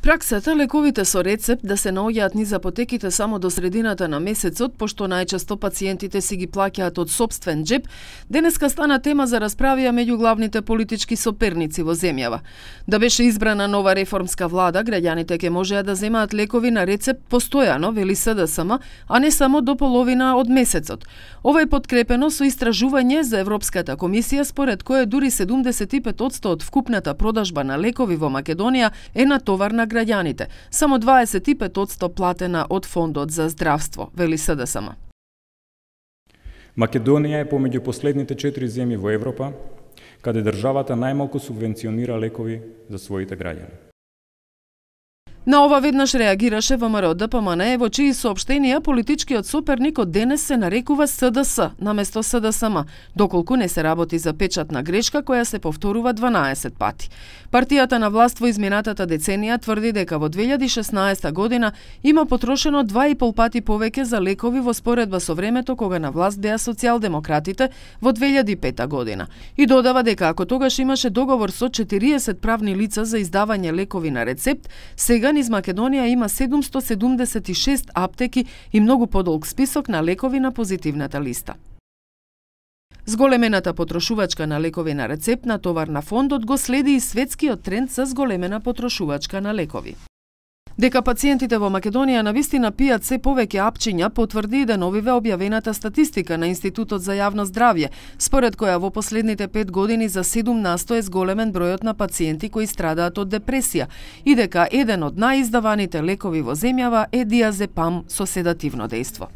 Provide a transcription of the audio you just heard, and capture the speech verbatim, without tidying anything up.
Праксата лековите со рецепт да се наоѓаат низ апотеките само до средината на месецот, пошто најчесто пациентите си ги плаќаат од сопствен джеб, денеска стана тема за расправија меѓу главните политички соперници во земјава. Да беше избрана нова реформска влада, граѓаните ќе можеа да земаат лекови на рецепт постојано, вели СДСМ, а не само до половина од месецот. Ова е подкрепено со истражување за Европската комисија, според кое дури седумдесет и пет одсто од вкупната продажба на лекови во Македонија е на товар на граѓаните, само дваесет и пет одсто платена од Фондот за здравство, вели СДСМ. Македонија е помеѓу последните четири земји во Европа каде државата најмалку субвенционира лекови за своите граѓани. На ова веднаш реагираше ВМРО Д П М Н, во чии соопштенија политичкиот соперник од денес се нарекува СДС наместо СДСМ, доколку не се работи за печатна грешка која се повторува дванаесет пати. Партијата на власт во изминатата деценија тврди дека во две илјади и шеснаесета година има потрошено два и пол пати повеќе за лекови во споредба со времето кога на власт беа социјалдемократите во две илјади и пета година. И додава дека ако тогаш имаше договор со четириесет правни лица за издавање лекови на рецепт, сега низ Македонија има седумсто седумдесет и шест аптеки и многу подолг список на лекови на позитивната листа. Зголемената потрошувачка на лекови на рецепт на товар на фондот го следи и светскиот тренд за зголемена потрошувачка на лекови. Дека пациентите во Македонија навистина пијат се повеќе апчиња потврди и деновиве објавената статистика на Институтот за јавно здравје, според која во последните пет години за седум насто е зголемен бројот на пациенти кои страдаат од депресија и дека еден од наиздаваните лекови во земјава е диазепам со седативно дејство.